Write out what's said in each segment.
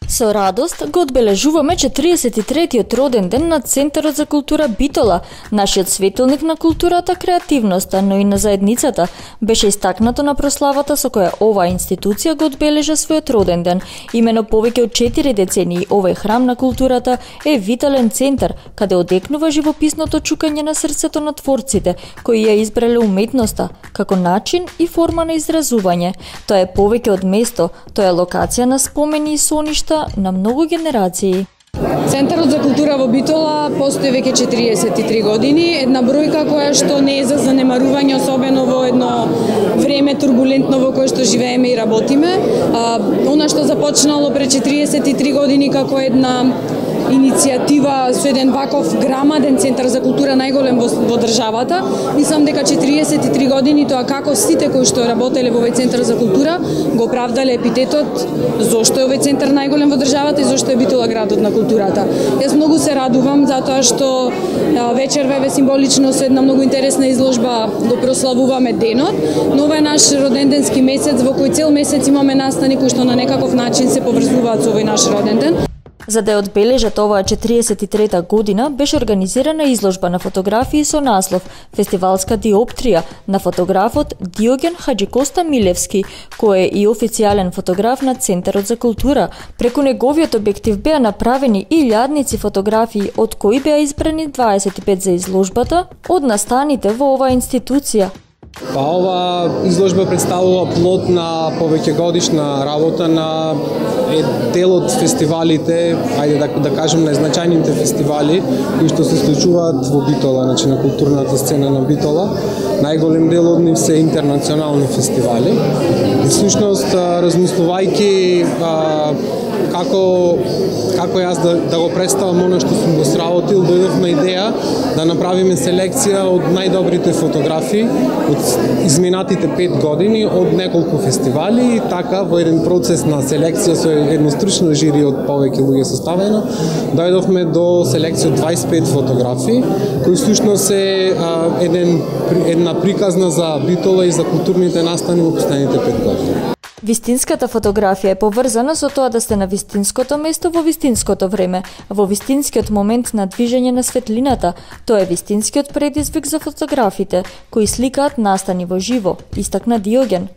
Со радост го одбележуваме 43-тиот роден ден на Центарот за култура Битола. Нашиот светилник на културата, креативноста, но и на заедницата беше истакнато на прославата со која оваа институција го одбележа својот роден ден. Имено повеќе од 4 децении овој храм на културата е витален центар, каде одекнува живописното чукање на срцето на творците, кои ја избрале уметноста како начин и форма на изразување. Тоа е повеќе од место, тоа е локација на спомени и соништа на многу генерации. Центарот за култура во Битола постои веќе 43 години, една бројка која што не е за занемарување, особено во едно време турбулентно во кое што живееме и работиме. Она што започнало пред 43 години како една иницијатива со еден ваков грамаден центар за култура, најголем во државата. Мислам дека 43 години тоа како сите кои што работеле во овој центар за култура го оправдале епитетот зошто е овој центар најголем во државата и зошто е Битола градот на културата. Јас многу се радувам затоа што вечерва е символично со една многу интересна изложба го прославуваме денот, но ова е наш роденденски месец во кој цел месец имаме настани кои што на некаков начин се поврзуваат со овој наш роден ден. За да ја одбележат оваа 43-та година, беше организирана изложба на фотографии со наслов «Фестивалска диоптрија» на фотографот Диоген Хаджикоста Милевски, кој е и официјален фотограф на Центарот за култура. Преку неговиот објектив беа направени илјадници фотографии, од кои беа избрани 25 за изложбата од настаните во оваа институција. Ова изложба представува плод на повеќегодишна работа на дел од фестивалите, ајде да кажем најзначајните фестивали кои што се случуваат во Битола, значи на културната сцена на Битола. Најголем дел од нив се интернационални фестивали. И всушност размислувајќи како јас да го представам она што сум го сработил, дојдовме идеја да направиме селекција од најдобрите фотографии од изминатите 5 години од неколку фестивали и така во еден процес на селекција со едно стручно жири од повеќе луѓе составено, дојдовме до селекција од 25 фотографии кои всушност се една приказна за Битола и за културните настани во последните 5 години. Вистинската фотографија е поврзана со тоа да сте на вистинското место во вистинското време, во вистинскиот момент на движење на светлината. Тоа е вистинскиот предизвик за фотографите, кои сликаат настани во живо, истакна Диоген.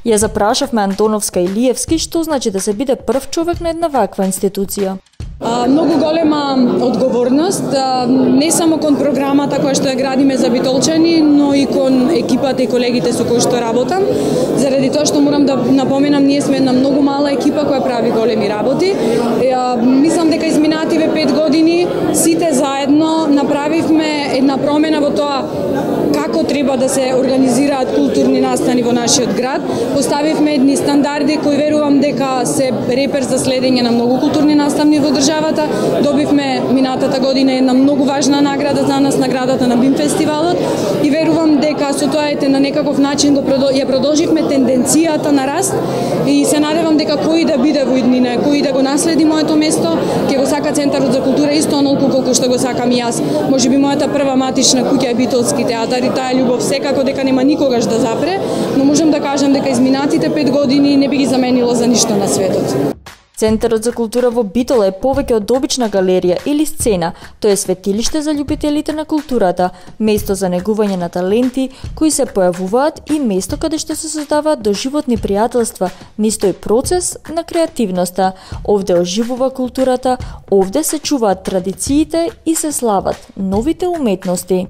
Ја запрашавме Антоновска и Лиевски што значи да се биде прв човек на една ваква институција. Многу голема одговорност, не само кон програмата која што ја градиме за битолчани, но и кон екипата и колегите со кои што работам. Заради тоа што морам да напоменам, ние сме една многу мала екипа која прави големи работи. Мислам дека изминативе 5 години сите заедно направивме една промена во тоа како треба да се организираат културни настани во нашиот град. Поставивме едни стандарди кои верувам дека се репер за следење на многу културни настани во државата. Добивме минатата година една многу важна награда за нас, наградата на БИМ фестивалот, и верувам дека со тоа на некаков начин ја продолживме тенденцијата на раст и се надевам дека кој да биде во иднина, кој да го наследи моето место, ќе го сака Центарот за култура исто онолку колку што го сакам и јас. Можеби мојата прва матична куќа е Битолски театар и таа љубов секако дека нема никогаш да запре, но можам да кажам дека изминатите 5 години не би ги заменило за ништо на светот. Центарот за култура во Битола е повеќе од обична галерија или сцена. Тоа е светилиште за љубителите на културата, место за негување на таленти кои се појавуваат и место каде што се создаваат доживотни пријателства, низ тој процес на креативноста. Овде оживува културата, овде се чуваат традициите и се слават новите уметности.